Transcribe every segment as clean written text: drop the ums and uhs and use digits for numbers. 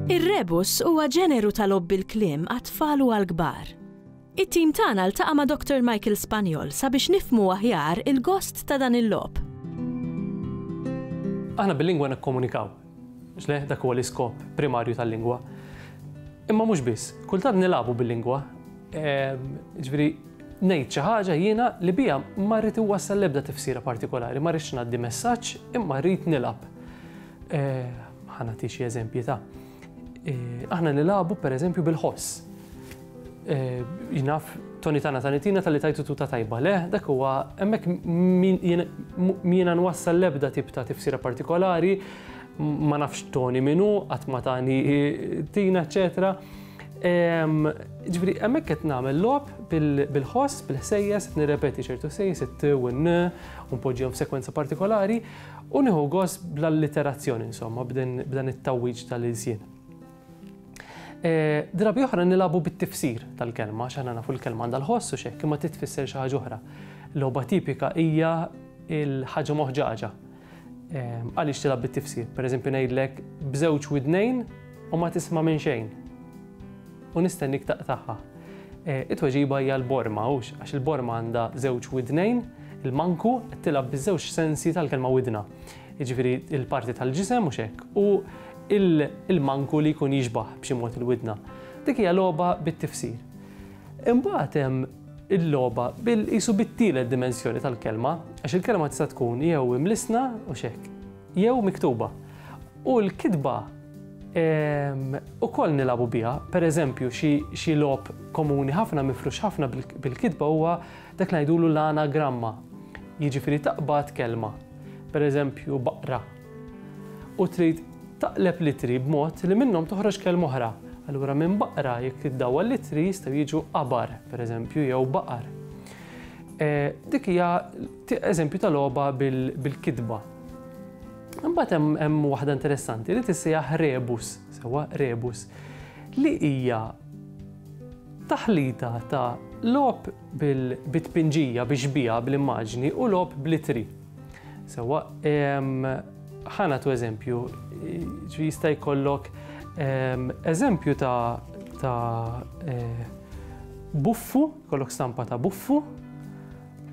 Ir-rebus huwa ġeneru ta' logħob bil-kliem għat-tfal u għall-kbar. It-tim tagħna ltaqa' ma' Dr. Michael Spagnol sabiex nifhmu aħjar il-gost ta' dan il-logħob. Aħna bil-lingwa nikkomunikaw. Mhux le, dak huwa l-iskop primarju tal-lingwa. Imma mhux biss, kultant nilagħbu bil-lingwa. Ehm, ġifieri ngħid xi ħaġa jiena li biha ma rrid iwassal l-ebda tifsira partikolari, ma rridx ngħaddi messaġġ imma rrid nilgħab. Eh, ħa nagħti xi eżempji ta' eh, aħna nilagħbu pereżempju bil-ħoss. Eh, jinaf Toni tana tanitina tal-li tajtu tuta tajba, le, dak huwa hemmhekk jiena nwassal l-ebda tip ta' tifsira partikolari, ma nafx Toni minu, qatt ma tani tina, eċetera. Ġifieri hemmhekk qed nagħmel logħob bil-ħoss, bil-ħsejjes, qed nirrepeti ċertu ħsejjes, it-t u n u npoġġihom f'sekwenza partikolari u nieħu gost bl-alliterazzjoni insomma b'dan it-tgħawwiġ tal-ilsien. E, drabi oħra nilagħbu bit-tifsir tal-kelma, għax aħna nafu l-kelma għandha l-ħoss u x'hekk, imma titfisser xi ħaġa oħra. Logħba tipika hija l-ħaġa moħġaġa. Għaliex tilgħab bit-tifsir? Pereżempju ngħidlek b'żewġ widnejn u ma tisma' minn xejn. U nistennik taqtagħha. E, it-tweġiba hija l-borma, hux għax il-borma għandha żewġ widnejn, il-manku qed tilgħab biż-żewġ sensi tal-kelma widna. Jiġifieri il-parti tal-ġisem mhux hekk u il-manku li jkun jixbah b'xi mod il-widna. Dik hija logħba bit-tifsir. Imbagħad hemm il-logħba bil qisu bit-tielet dimensjoni tal-kelma, għax il-kelma tista' tkun jew imlissna u x'hekk, jew miktuba. U l-kitba ehm, ukoll nilagħbu biha, pereżempju xi logħob komuni ħafna mifrux ħafna bil-kitba huwa dak li ngħidulu l-anagramma. Jiġifieri taqbad kelma, pereżempju baqra, u trid taqleb l-ittri b'mod li minnhom toħroġ kelma oħra. Allura minn baqra jekk iddawwar l-ittri jistgħu jiġu qabar, pereżempju, jew baqar. Dik hija eżempju ta' logħba bil-kitba. Imbagħad hemm waħda interessanti li tissejjaħ rebus, sewwa rebus, li hija taħlita ta' logħob bit-tpinġija, bix-xbieha, bl-immaġni u logħob bl-ittri. Sewwa, ħa nagħtu eżempju, jista' jkollok eżempju ta' ta' eh, buffu, jkollok stampa ta' buffu,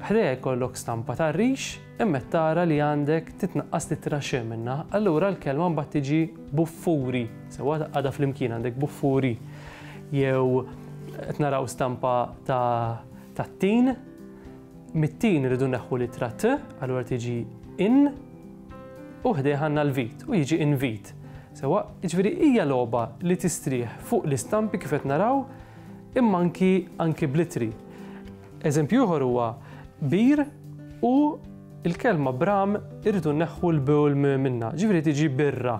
ħdejha jkollok stampa ta' rix, imma tara li għandek titnaqqas titra xe minna, allura l-kelma mbagħad tiġi buffuri, sewwa għadha flimkien għandek buffuri. Jew qed naraw stampa ta' tat-tin, Mit-tin irridu nneħħu l-ittra t, allura tiġi in, u ħdejh għandna l-vit u jiġi invit. Sewwa, jiġifieri hija logħba li tistrieħ fuq l-istampi kif qed naraw, imma anki anki bl-ittri. Eżempju ieħor huwa bir u l-kelma bram irridu nneħħu l-b u l-m minnha, ġifieri tiġi birra.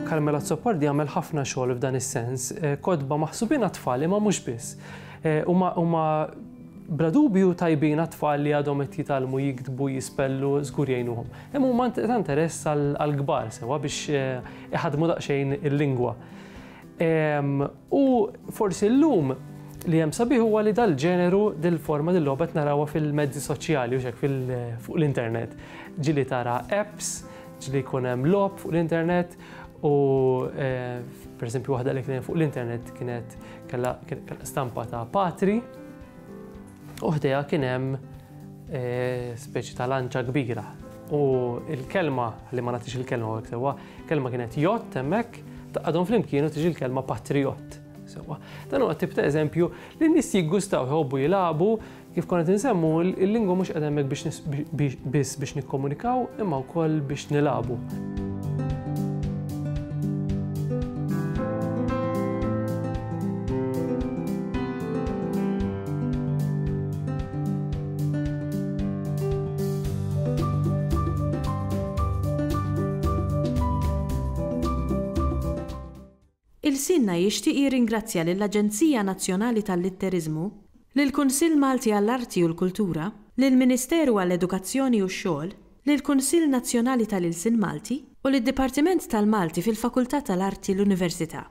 Carmel Azzopardi għamel ħafna xogħol f'dan is-sens, eh, kotba maħsubin għat-tfal imma mhux biss. Eh, huma huma bla dubju tajbin għat-tfal li għadhom qed jitgħallmu jiktbu, jispellu, żgur jgħinuhom. Imma huma ta' interess għall-kbar sewwa biex eh, iħaddmu daqsxejn il-lingwa. U forsi llum li hemm sabiħ huwa li dal-ġeneru, dil-forma, dil-logħba qed narawha fil-mezzi soċjali u x'hekk fuq l-internet. Ġieli tara apps, ġieli jkun hemm logħob fuq l-internet u eh, pereżempju waħda li kien fuq l-internet kienet kellha stampa ta' patri U ħdejha kien hemm speċi ta' lanċa kbira. U l-kelma, ħalli ma nagħtix il-kelma hawnhekk sewwa, kelma kienet jott hemmhekk, taqgħadhom flimkien u tiġi l-kelma patrijott. Sewwa. Dan huwa tip ta' eżempju li n-nies jiggustaw jħobbu jilagħbu, kif konna qed insemmu, il-lingwa mhux qiegħda hemmhekk biex biss biex nikkomunikaw imma wkoll biex nilagħbu. Ilsienna jixtieq jirringrazzja lill-Aġenzija Nazzjonali tal-Litteriżmu, lill-Kunsill Malti għall-Arti u l-Kultura, lill-Ministeru għall-Edukazzjoni u x-Xogħol, lill-Kunsill Nazzjonali tal-Ilsien Malti u lid-Dipartiment tal-Malti fil-Fakultà tal-Arti l-Università.